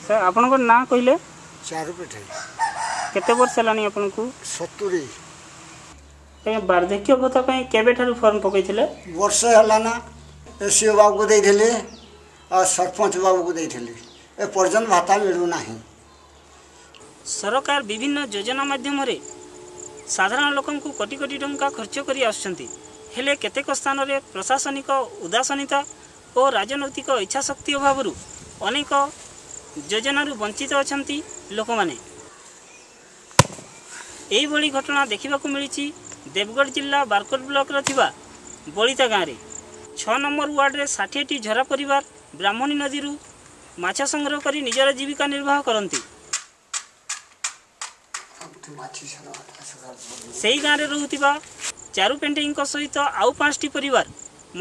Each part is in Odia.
ସାର୍, ଆପଣଙ୍କ ନାଁ କହିଲେ? ଚାରୁ ପିଠେ। କେତେ ବର୍ଷ ହେଲାଣି ଆପଣଙ୍କୁ? 70। ଆଜ୍ଞା, ବାର୍ଦ୍ଧକ୍ୟ ଭତ୍ତା ପାଇଁ କେବେଠାରୁ ଫର୍ମ ପକାଇଥିଲେ? ବର୍ଷେ ହେଲା ନା। ଏସ୍ ବାବୁକୁ ଦେଇଥିଲି ଆଉ ସରପଞ୍ଚ ବାବୁକୁ ଦେଇଥିଲି, ଏପର୍ଯ୍ୟନ୍ତ ଭତ୍ତା ମିଳୁନାହିଁ। ସରକାର ବିଭିନ୍ନ ଯୋଜନା ମାଧ୍ୟମରେ ସାଧାରଣ ଲୋକଙ୍କୁ କୋଟି କୋଟି ଟଙ୍କା ଖର୍ଚ୍ଚ କରି ଆସୁଛନ୍ତି। ହେଲେ କେତେକ ସ୍ଥାନରେ ପ୍ରଶାସନିକ ଉଦାସୀନତା ଓ ରାଜନୈତିକ ଇଚ୍ଛାଶକ୍ତି ଅଭାବରୁ ଅନେକ ଯୋଜନାରୁ ବଞ୍ଚିତ ଅଛନ୍ତି ଲୋକମାନେ। ଏଇଭଳି ଘଟଣା ଦେଖିବାକୁ ମିଳିଛି ଦେବଗଡ଼ ଜିଲ୍ଲା ବାରକୋଟ ବ୍ଲକର ଥିବା ବଳିତା ଗାଁରେ। 6 ନମ୍ବର ୱାର୍ଡ଼ରେ 60ଟି ଝରା ପରିବାର ବ୍ରାହ୍ମଣୀ ନଦୀରୁ ମାଛ ସଂଗ୍ରହ କରି ନିଜର ଜୀବିକା ନିର୍ବାହ କରନ୍ତି। ସେହି ଗାଁରେ ରହୁଥିବା ଚାରୁ ପେଣ୍ଟେଇଙ୍କ ସହିତ ଆଉ 5ଟି ପରିବାର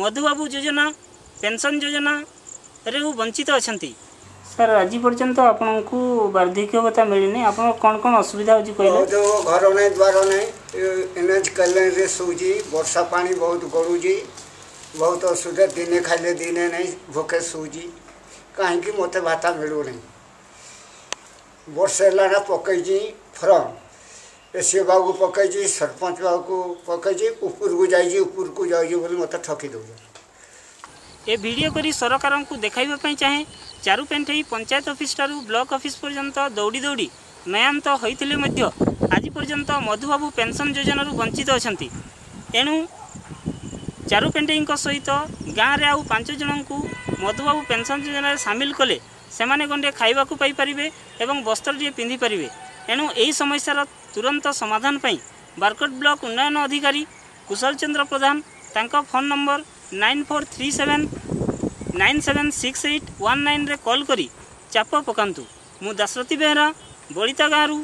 ମଧୁବାବୁ ଯୋଜନା, ପେନ୍ସନ୍ ଯୋଜନାରେ ବଞ୍ଚିତ ଅଛନ୍ତି। ସାର୍, ଆଜି ପର୍ଯ୍ୟନ୍ତ ଆପଣଙ୍କୁ ବାର୍ଦ୍ଧକ୍ୟ ଭତ୍ତା ମିଳିନି, ଆପଣ କ'ଣ କ'ଣ ଅସୁବିଧା ହେଉଛି କହିଲେ? ବହୁତ ଘର ନାହିଁ, ଦ୍ୱାର ନାହିଁ, ଏନ୍ ଏଚ୍ କଲୋନୀରେ ଶୋଉଛି। ବର୍ଷା ପାଣି ବହୁତ ଗଳୁଛି, ବହୁତ ଅସୁବିଧା। ଦିନେ ଖାଇଲେ ଦିନେ ନାହିଁ, ଭୋକେ ଶୋଉଛି। କାହିଁକି ମୋତେ ଭତ୍ତା ମିଳୁନାହିଁ? ବର୍ଷେ ହେଲା ନା ପକେଇଛି ଫର୍ମ। ଏସ୍ ବାବୁକୁ ପକେଇଛି, ସରପଞ୍ଚ ବାବୁକୁ ପକେଇଛି, ଉପରକୁ ଯାଇଛି, ଉପରକୁ ଯାଉଛି ବୋଲି ମୋତେ ଠକି ଦେଉଛନ୍ତି। ଏ ଭିଡ଼ିଓ କରି ସରକାରଙ୍କୁ ଦେଖାଇବା ପାଇଁ ଚାହେଁ, ଚାରୁ ପେଣ୍ଠେଇ ପଞ୍ଚାୟତ ଅଫିସଠାରୁ ବ୍ଲକ ଅଫିସ ପର୍ଯ୍ୟନ୍ତ ଦୌଡ଼ି ଦୌଡ଼ି ନୟାନ୍ତ ହୋଇଥିଲେ ମଧ୍ୟ ଆଜି ପର୍ଯ୍ୟନ୍ତ ମଧୁବାବୁ ପେନ୍ସନ୍ ଯୋଜନାରୁ ବଞ୍ଚିତ ଅଛନ୍ତି। ଏଣୁ ଚାରୁ ପେଣ୍ଠେଇଙ୍କ ସହିତ ଗାଁରେ ଆଉ 5 ଜଣଙ୍କୁ ମଧୁବାବୁ ପେନ୍ସନ୍ ଯୋଜନାରେ ସାମିଲ କଲେ ସେମାନେ ଗଣ୍ଡେ ଖାଇବାକୁ ପାଇପାରିବେ ଏବଂ ବସ୍ତ୍ରଟିଏ ପିନ୍ଧିପାରିବେ। ଏଣୁ ଏହି ସମସ୍ୟାର ତୁରନ୍ତ ସମାଧାନ ପାଇଁ ବାରକୋଟ ବ୍ଲକ ଉନ୍ନୟନ ଅଧିକାରୀ କୁଶଲ ଚନ୍ଦ୍ର ପ୍ରଧାନ, ତାଙ୍କ ଫୋନ୍ ନମ୍ବର 9437976819ରେ କଲ୍ କରି ଚାପ ପକାନ୍ତୁ। ମୁଁ ଦାଶରଥୀ ବେହେରା, ବଳିତା ଗାଁରୁ,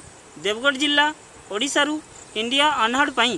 ଦେବଗଡ଼ ଜିଲ୍ଲା, ଓଡ଼ିଶାରୁ ଇଣ୍ଡିଆ ଅନହର୍ଡ଼ ପାଇଁ।